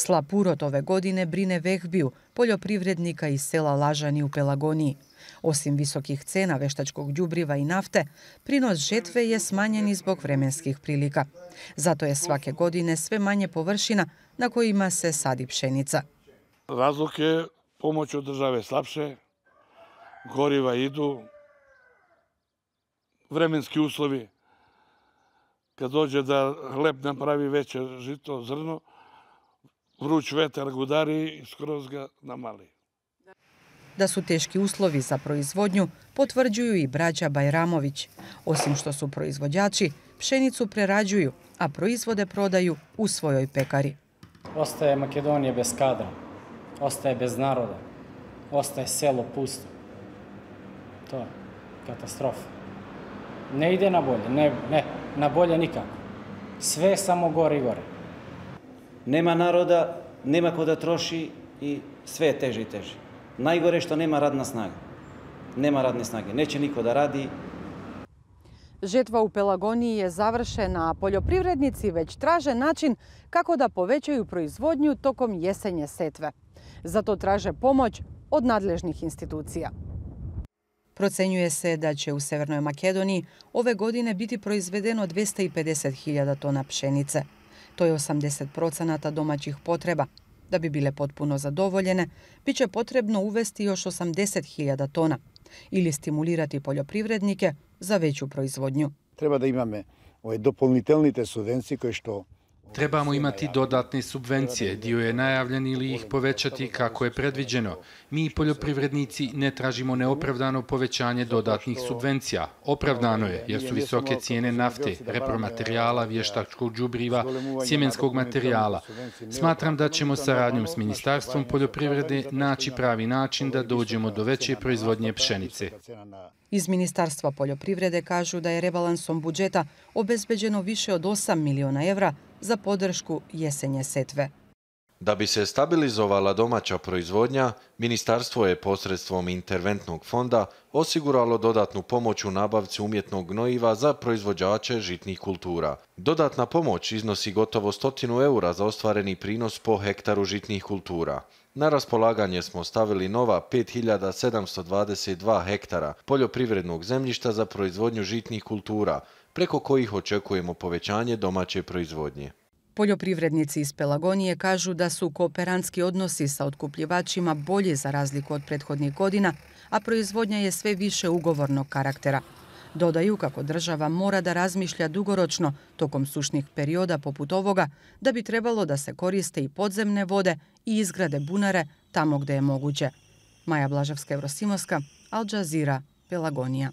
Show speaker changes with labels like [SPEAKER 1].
[SPEAKER 1] Slab urod ove godine brine Vehbiju, poljoprivrednika iz sela Lažani u Pelagoniji. Osim visokih cena veštačkog đubriva i nafte, prinos žetve je smanjen i zbog vremenskih prilika. Zato je svake godine sve manje površina na kojima se sadi pšenica.
[SPEAKER 2] Razlog je pomoć od države slabše, goriva idu, vremenski uslovi. Kad dođe da hleb napravi veće žito, zrno, vruć vetar gudari i skroz ga namali.
[SPEAKER 1] Da su teški uslovi za proizvodnju potvrđuju i braća Bajramović. Osim što su proizvođači, pšenicu prerađuju, a proizvode prodaju u svojoj pekari.
[SPEAKER 3] Ostaje Makedonija bez kadra, ostaje bez naroda, ostaje selo pusto. To je katastrofa. Ne ide na bolje, ne, na bolje nikako. Sve samo gore i gore.
[SPEAKER 4] Nema naroda, nema ko da troši i sve je teže i teže. Najgore je što nema radna snaga. Nema radne snage, neće niko da radi.
[SPEAKER 1] Žetva u Pelagoniji je završena, a poljoprivrednici već traže način kako da povećaju proizvodnju tokom jesenje setve. Zato traže pomoć od nadležnih institucija. Procenjuje se da će u Severnoj Makedoniji ove godine biti proizvedeno 250.000 tona pšenice. To je 80% domaćih potreba. Da bi bile potpuno zadovoljene, bit će potrebno uvesti još 80.000 tona ili stimulirati poljoprivrednike za veću proizvodnju.
[SPEAKER 5] Treba da imamo doполнителните subvencije koje što...
[SPEAKER 6] Trebamo imati dodatne subvencije, dio je najavljen ili ih povećati kako je predviđeno. Mi poljoprivrednici ne tražimo neopravdano povećanje dodatnih subvencija. Opravdano je jer su visoke cijene nafte, repromaterijala, vještačkog đubriva, sjemenskog materijala. Smatram da ćemo saradnjom s Ministarstvom poljoprivrede naći pravi način da dođemo do veće proizvodnje pšenice.
[SPEAKER 1] Iz Ministarstva poljoprivrede kažu da je rebalansom budžeta obezbeđeno više od 8 miliona evra za podršku jesenje setve.
[SPEAKER 7] Da bi se stabilizovala domaća proizvodnja, ministarstvo je posredstvom interventnog fonda osiguralo dodatnu pomoć u nabavci umjetnog gnojiva za proizvođače žitnih kultura. Dodatna pomoć iznosi gotovo 100 eura za ostvareni prinos po hektaru žitnih kultura. Na raspolaganje smo stavili nova 5722 hektara poljoprivrednog zemljišta za proizvodnju žitnih kultura, preko kojih očekujemo povećanje domaće proizvodnje.
[SPEAKER 1] Poljoprivrednici iz Pelagonije kažu da su kooperantski odnosi sa otkupljivačima bolji za razliku od prethodnih godina, a proizvodnja je sve više ugovornog karaktera. Dodaju kako država mora da razmišlja dugoročno tokom sušnih perioda poput ovoga, da bi trebalo da se koriste i podzemne vode i izgrade bunare tamo gde je moguće. Maja Blaževska, Evrosimovska, Al Jazeera, Pelagonija.